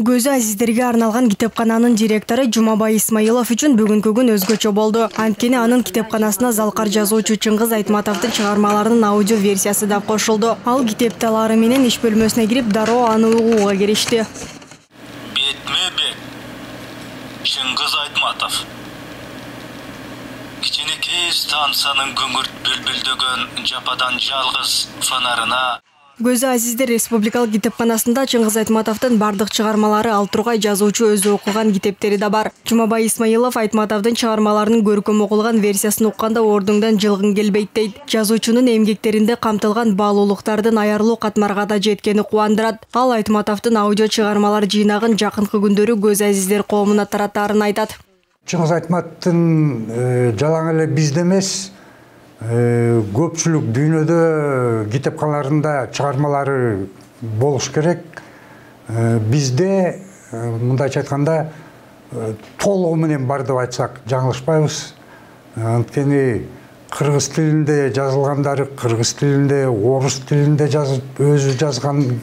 Көзү азиздерге арналган китепкананын директору Жумабай Исмаилов үчүн бүгүнкү күн өзгөчө болду. Анткени анын китепканасына залкар жазуучу Чыңгыз Айтматовдун чыгармаларынын аудио версиясы да кошулду. Ал китепталары менен иш бөлмөсүнө кирип, дароо аны угууга киришти. Бетме-бет Чыңгыз Айтматов. Кичинекей станциянын күңүрт бүлбүлдөгөн жападан жалгыз фонарына Көзү азиздер республикалык китепканасында Чыңгыз Айтматовдун бардык чыгармалары, ал тургай жазуучу өзү окуган китептери да бар. Жумабай Исмаилов Айтматовдун чыгармаларынын көркөм окулган версиясын укканда ордуңдан жылгың келбейт дейт. Жазуучунун эмгектеринде камтылган баалуулуктардын аярлуу катмарга да жеткени кубандырат. Ал Айтматовдун аудио чыгармалар жыйнагын жакынкы күндөрү көз азиздер коомуна таратаарын айтат. Чыңгыз Айтматовдун жалаң эле бизде эмес, көпчүлүк дүйнөдө китепканаларында чыгармалары болуш керек. Бизде мындайча айтканда толугу менен бар деп айтсак жаңылышпайбыз. Анткени кыргыз тилинде жазылгандары кыргыз тилинде, орус тилинде өзү жазган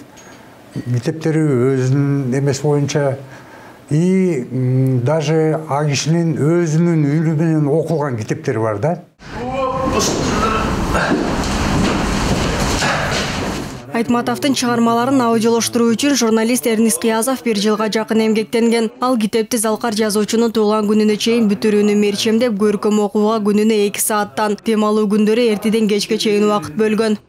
китептери өзүнүн эмес боюнча и даже а кишинин өзүнүн үнү менен окулган китептери бар да. Айтматовдун чыгармаларын аудиолоштуруу үчүн журналист Эрнис Кыязов 1 жылга жакын эмгектенген. Ал китепти залкар жазуучунун туулган күнүнө чейин бүтүрүүнү мерчемдеп, көркөм окууга күнүнө 2 сааттан, темалуу күндөрү эртеден кечке чейин убакыт бөлгөн.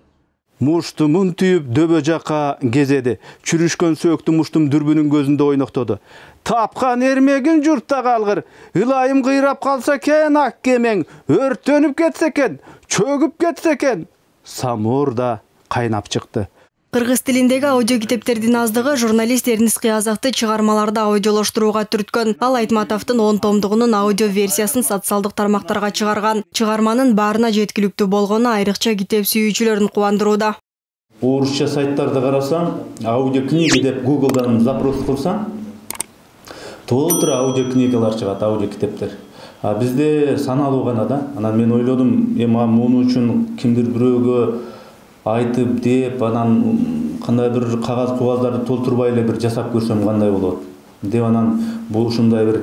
Мушту мун түйүп дөбө жакка кезеди. Чүрүшкөн сөөктү муштум дүрбүнүн көзүндө ойноктоду. Тапкан эрмегин журтта калгыр. Ылайым кыйрап калса экен ак кемең, өрттөнүп кетсе экен, чөгүп кетсе экен. Самур да кайнап чыкты. Кыргыз тилиндеги аудио китептердин аздыгы журналист Эрнис Кыязовду чыгармаларды аудиолоштурууга түрткөн. Ал Айтматовдун 10 томдугунун аудио версиясын социалдык тармактарга чыгарган. Чыгарманын баарына жеткиликтүү болгону айрыкча китеп сүйүүчүлөрүн кубандырууда. Орусча сайттарды карасаң, аудиокниги деп Google'дан запрос кылсаң, толтура аудиокнигалар чыгат, аудио китептер. А бизде саналуу гана да. Анан мен ойлодум, муну үчүн кимдир бирөөгө айтып деп, анан кандай бир кагаз-кубаздарды толтурбай эле бир жасап көрсөм кандай болот деп, анан бул ушундай бир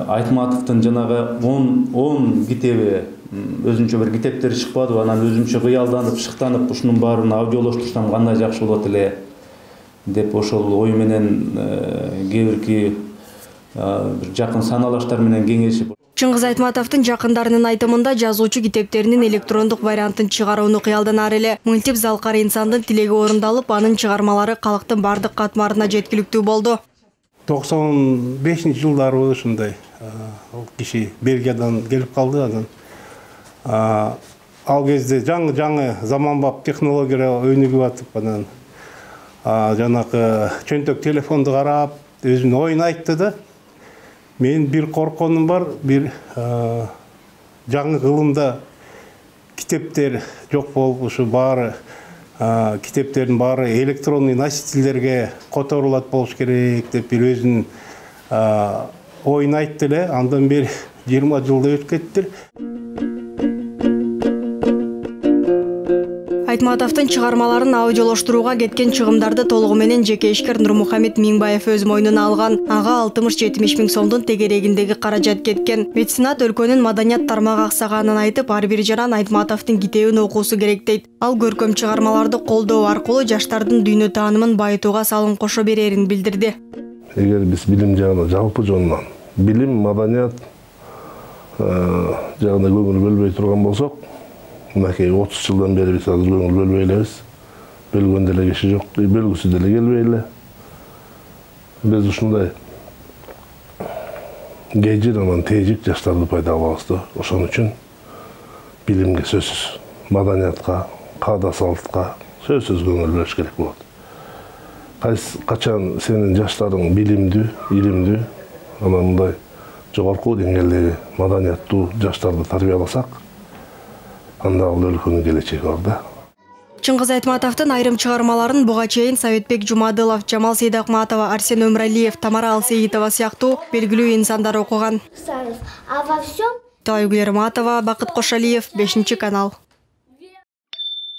Айтматовдун жанагы 10 китеби, өзүнчө бир китептери чыкпады, анан өзүмчө кыялданып, шыктанып, ушунун баарын аудиолоштурсам кандай жакшы болот эле деп ошол ой менен кээ бирки бир жакын саналаштар менен кеңешип. Чыңгыз Айтматовдун жакындарынын айтымында жазуучу китептеринин электрондук вариантын чыгарууну кыялданар эле. Мынтип залкар инсандын тилеги орундалып, анын чыгармалары калктын бардык катмарына жеткиликтүү болду. 95-жылдары ушундай киши Бельгиядан келип калды. Анан ал кезде жаңы заманбап технологиялар өнүгүп атып, анан жанакы чөнтөк телефонду карап, өзүнүн оюн айтты да. Мен бир корконум бар, бир жаңы кылымда китептер жок болуп, ушу баары китептердин баары электронный носительдерге которулат болуш керек деп бир өзүнүн оюн айтты эле. Андан бери 20 жылда өтүп кетти. Айтматовдун чыгармаларын аудиолоштурууга кеткен чыгымдарды толугу менен жеке ишкер Нурмухамед Миңбаев өз мойнуна алган. Ага 60-70 миң сомдун тегерегиндеги каражат кеткен. Меценат өлкөнүн маданият тармагы аксаганын айтып, ар бир жаран Айтматовдун китебин окуусу керек дейт. Ал көркөм чыгармаларды колдоо аркылуу жаштардын дүйнө таанымын байытууга салым кошо берерин билдирди. Эгер биз билим жагынан, жалпы жонунан, билим, маданият жагына көңүл бөлбөй турган болсок, мынакей 30 жылдан бери биз азыр көңүл бөлбөй элебиз. Бөлгөн деле киши жок, бөлгүсү деле келбей эле. Биз ушундай кежир анан тежик жаштарды пайда кылабыз да. Ошон үчүн билимге сөзсүз, маданиятка, каада салтка сөзсүз көңүл бөлүш керек болот. Качан сенин жаштарың билимдүү, илимдүү, анан мындай жогорку деңгээлдеги маданияттуу жаштарды тарбияласак, анда ал өлкөнүн келечеги бар да. Чыңгыз Айтматовдун айрым чыгармаларын буга чейин Советбек Жумадылов, Жамал Сейдакматова, Арсен Өмралиев, Тамара Алсеитова сыяктуу белгилүү инсандар окуган. Тайгулер Матова, Бакыт Кошалиев, 5 канал.